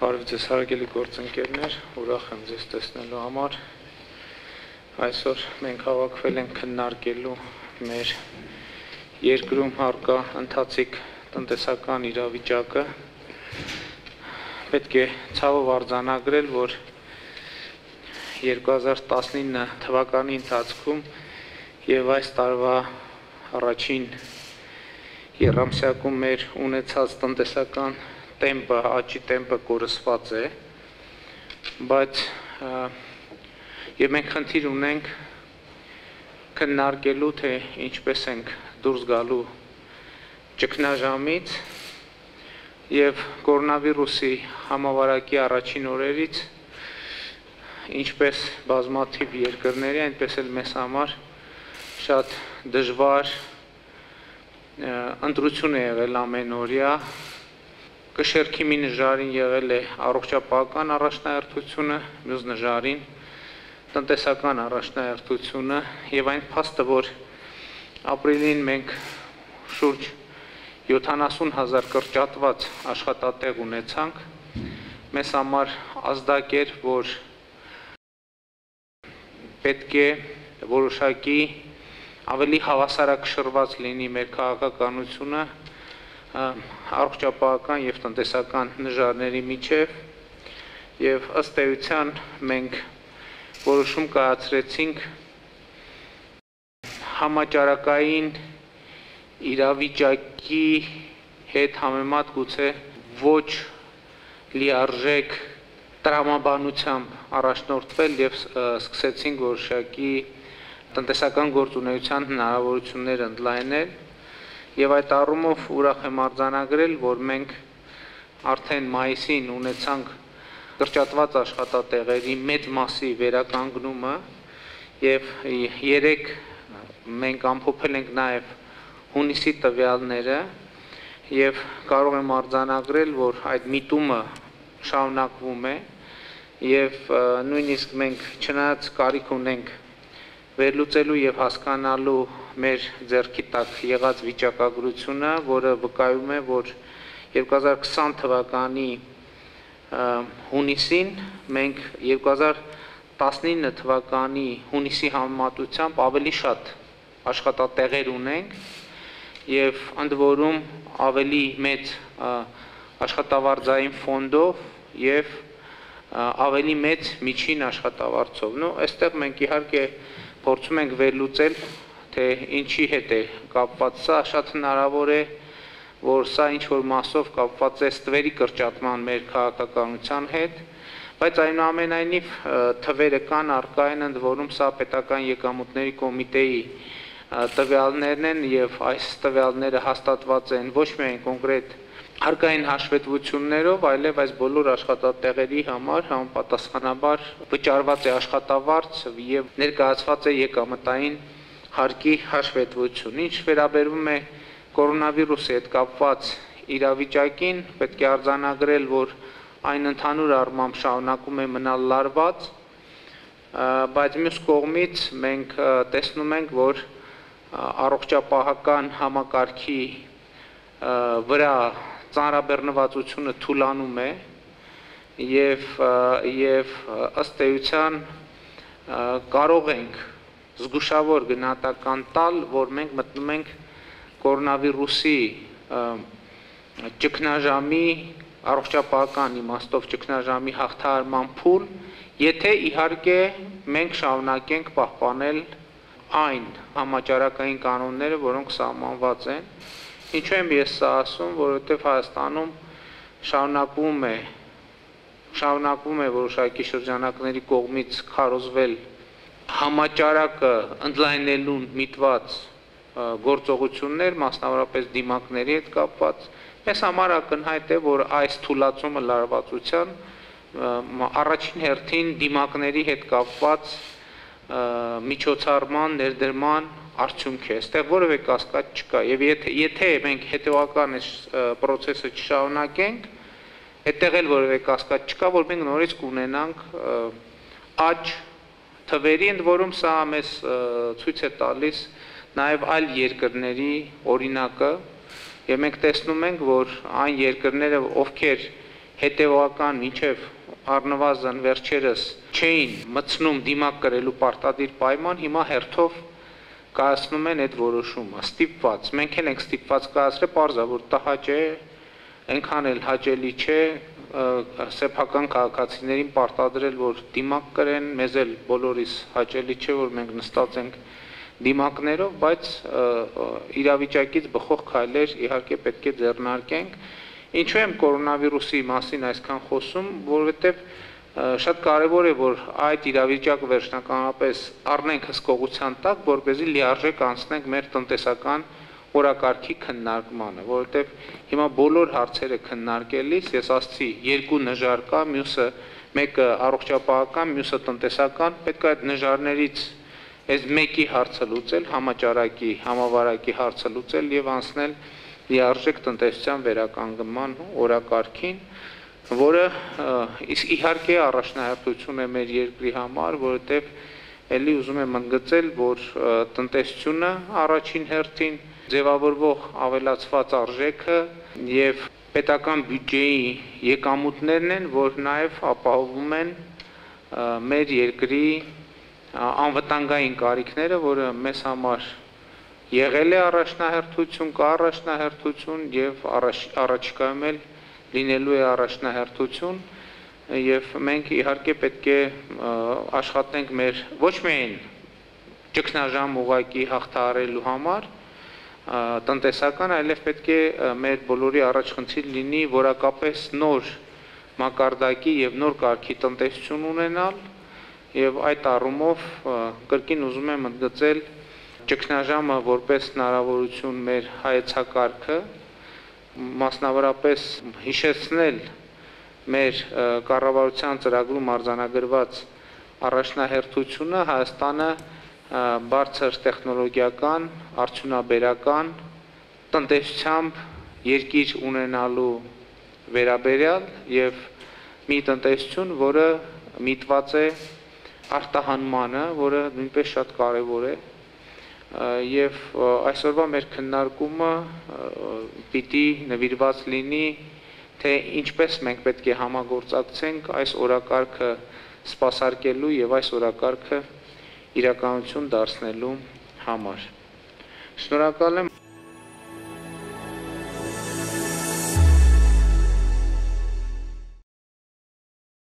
Բարև ձեզ հարգելի գործընկերներ, ուրախ եմ ձեզ տեսնելու համար։ Այսօր մենք հավաքվել ենք քննարկելու մեր երկրում առկա ընթացիկ տնտեսական իրավիճակը։ Պետք է ցավով արձանագրել, որ 2019 թվականի ընթացքում եւ այս տարվա առաջին եռամսյակում մեր ունեցած տնտեսական տեմպը, աճի տեմպը կորսված է, բայց եւ մենք խնդիր ունենք քննարկելու, թե ինչպես ենք դուրս գալու ճգնաժամից եւ կորոնավիրուսի համավարակի առաջին օրերից, ինչպես բազմաթիվ երկրների, այնպես էլ մեզ համար շատ դժվար ընտրություն է եղել ամենօրյա, Կշերքի մի նժարին եղել է առողջապահական առաջնահերթությունը, մյուս նժարին տնտեսական առաջնահերթությունը եւ այն փաստը, որ ապրիլին մենք շուրջ 70,000 կրճատված աշխատատեղ ունեցանք, մեզ համար ազդակ էր, որ պետք է որոշակի ավելի հավասարակշռված լինի մեր քաղաքականությունը առողջապահական եւ տնտեսական նժարների միջև եւ ըստ էության մենք որոշում կայացրեցինք համաճարակային իրավիճակի հետ համեմատ գուցե ոչ լիարժեք տրամաբանությամբ առաջնորդվել եւ սկսեցինք որոշակի տնտեսական գործունեության հնարավորություններ ընդլայնել Եվ այդ առումով ուրախ եմ արձանագրել, որ մենք արդեն մայիսին ունեցանք կրճատված աշխատատեղերի մեծ մասի վերականգնումը եւ երեք մենք ամփոփել ենք նաեւ հունիսի տվյալները եւ կարող եմ արձանագրել, որ այդ միտումը շարունակվում է եւ նույնիսկ մենք չնայած կարիք ունենք վերլուծելու եւ հասկանալու մեր ձեռքի տակ եղած վիճակագրությունը, որը վկայում է, որ 2020 թվականի հունիսին մենք 2019 թվականի հունիսի համեմատությամբ ավելի շատ աշխատատեղեր ունենք եւ ընդ որում ավելի մեծ աշխատավարձային ֆոնդով եւ ավելի մեծ միջին աշխատավարձով։ Նո, այստեղ մենք իհարկե փորձում ենք վերլուծել, թե ինչի հետ է կապված սա, շատ հնարավոր է, որ սա ինչ-որ մասով կապված է ստվերի կրճատման մեր քաղաքականության հետ, բայց այնուամենայնիվ թվերը կան, առկա են, ընդ որում սա պետական եկամուտների կոմիտեի տվյալներն են եւ այս տվյալները հաստատված են ոչ միայն կոնկրետ հարկային հաշվետվություններով, այլև այս բոլոր աշխատատեղերի համար համապատասխանաբար վճարված է աշխատավարձ եւ ներկայացված է եկամտային հարկի հաշվետվություն։ Ինչ վերաբերում է կորոնավիրուսի հետ կապված իրավիճակին, պետք է արձանագրել, որ այն ընդհանուր առմամբ շարունակում է մնալ լարված, բայց մյուս կողմից մենք տեսնում ենք, որ առողջապահական համակարգի վրա ծանրաբեռնվածությունը թուլանում է եւ ըստ էության կարող ենք զգուշավոր գնահատական տալ, որ մենք մտնում ենք կորոնավիրուսի ճգնաժամի առողջապահական իմաստով ճգնաժամի հաղթահարման փուլ, եթե իհարկե մենք շարունակենք պահպանել այն համաճարակային կանոնները, որոնք սահմանված են Ինչու եմ ես սա ասում, որովհետև Հայաստանում շարունակվում է որոշակի շրջանակների կողմից քարոզվել համաճարակը ընդլայնելուն միտված գործողություններ, մասնավորապես դիմակների հետ կապված, մեզ համար ակնհայտ է, որ այս թուլացումը լարվածության առաջին հերթին դիմակների հետ կապված միջոցառման, ներդրման արդյունք է, այստեղ որևէ կասկած չկա եւ եթե մենք հետեւական այս process-ը չշարունակենք, այդտեղ էլ որևէ կասկած չկա, որ մենք նորից կունենանք աճ թվերի, ընդ որում սա մեզ ցույց է տալիս նաեւ այլ երկրների օրինակը եւ մենք տեսնում ենք, որ այն երկրները, ովքեր հետևական մինչև առնվազն վերջերս չէին մտցնում դիմակ կրելու պարտադիր պայման, հիմա հերթով կայացնում են այդ որոշումը, ստիպված, մենք էլ ենք ստիպված կայացրել, պարզա, որ տհաճ է, այնքան էլ հաճելի չէ սեփական քաղաքացիներին պարտադրել, որ դիմակ կրեն, մեզ էլ բոլորիս հաճելի չէ, որ մենք նստած ենք դիմակներով, բայց իրավիճակից բխող քայլեր իհարկե պետք է ձեռնարկենք։ Ինչու եմ կորոնավիրուսի մասին այսքան խոսում, որովհետև շատ կարևոր է, որ այդ իրավիճակը վերջնականապես առնենք հսկողության տակ, որպեսզի լիարժեք անցնենք մեր տնտեսական օրակարգի քննարկմանը, որովհետև հիմա բոլոր հարցերը քննարկելիս ես ասացի երկու նժար կա, մյուսը մեկը առողջապահական, մյուսը տնտեսական, պետք է այդ նժարներից այս մեկի հարցը լուծել, համաճարակի, համավարակի հարցը լուծել եւ անցնել լիարժեք տնտեսության վերականգնման օրակարգին, որը իհարկե առաջնահերթություն է մեր երկրի համար, որովհետև էլի ուզում եմ ընդգծել, որ տնտեսությունը առաջին հերթին ձևավորվող ավելացված արժեքը եւ պետական բյուջեի եկամուտներն են, որ նաեւ ապահովում են մեր երկրի անվտանգային կարիքները, որը մեզ համար եղել է առաջնահերթություն, կա առաջնահերթություն եւ առաջիկայում էլ լինելու է առաջնահերթություն եւ մենք իհարկե պետք է աշխատենք մեր ոչ միայն ճգնաժամ ուղղակի հաղթահարելու համար տնտեսական, այլև պետք է մեր բոլորի առաջխնդիր լինի որակապես նոր մակարդակի եւ նոր կարգի տնտեսություն ունենալ եւ այդ առումով կրկին ուզում եմ ընդգծել ճգնաժամը որպես հնարավորություն մեր հայեցակարգը, մասնավորապես հիշեցնել մեր կառավարության ծրագրում արձանագրված առաջնահերթությունը Հայաստանը բարձր տեխնոլոգիական, արդյունաբերական տնտեսությամբ երկիր ունենալու վերաբերյալ եւ մի տնտեսություն, որը միտված է արտահանմանը, որը նույնպես շատ կարևոր է եւ այսօրվա մեր քննարկումը պիտի նվիրված լինի թե ինչպես մենք պետք է համագործակցենք այս օրակարգը սպասարկելու եւ այս օրակարգը իրականություն դարձնելու համար։ Շնորհակալ եմ